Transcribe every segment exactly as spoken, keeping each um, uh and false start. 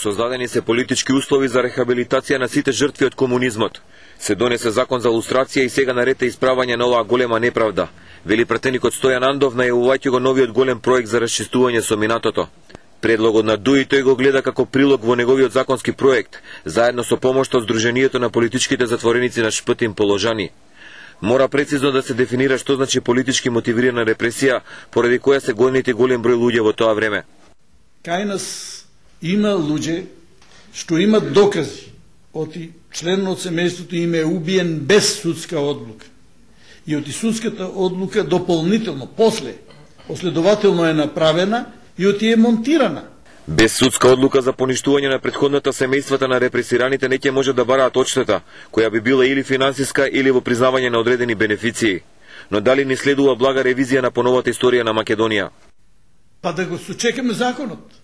Создадени се политички услови за рехабилитација на сите жртви од комунизмот. Се донесе закон за лустрација и сега наред е исправање на оваа голема неправда. Вели пратеникот Стојан Андов, најавувајќи го новиот голем проект за расчистување со минатото. Предлогот на ДУИ тој го гледа како прилог во неговиот законски проект, заедно со помошта од Сдруженијето на политичките затвореници на Шптин положани. Мора прецизно да се дефинира што значи политички мотивирана репресија, поради која се гонети голем број луѓе во тоа време. Кај нас има луѓе што имат докази оти член од семејството им е убиен без судска одлука. И оти судската одлука дополнително, после, последователно е направена и оти е монтирана. Без судска одлука за поништување на претходната семејствата на репресираните не ќе може да бараат одштета, која би била или финансиска или во признавање на одредени бенефиции. Но дали не следува блага ревизија на поновата историја на Македонија? Па да го сочекаме законот.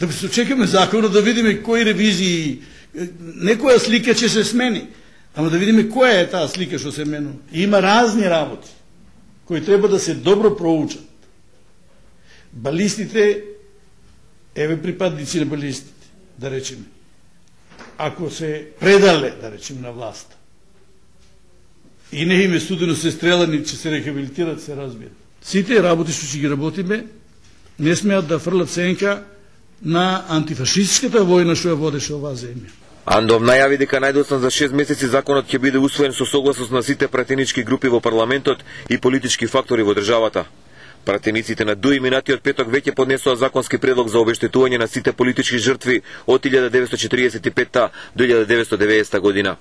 Да го сочекаме законот, да видиме кои ревизии, некоја слика ќе се смени, ама да видиме која е таа слика што се менува. Има разни работи кои треба да се добро проучат. Балистите, еве припадници на балистите, да речеме, ако се предале, да речеме, на власта, и не им е студено се стрелани, че се рехабилитират, се разбира. Сите работи што ќе ги работиме, не смеат да фрлат сенка на антифашистската војна што ја водеше оваа земја. Андов најави дека најдоцна за шест месеци законот ќе биде усвоен со согласност на сите пратенички групи во парламентот и политички фактори во државата. Пратениците на ДУИ минатиот петок веќе поднесоа законски предлог за обештетување на сите политички жртви од илјада деветстотчетиридесет и петта до илјада деветстотдеведесета година.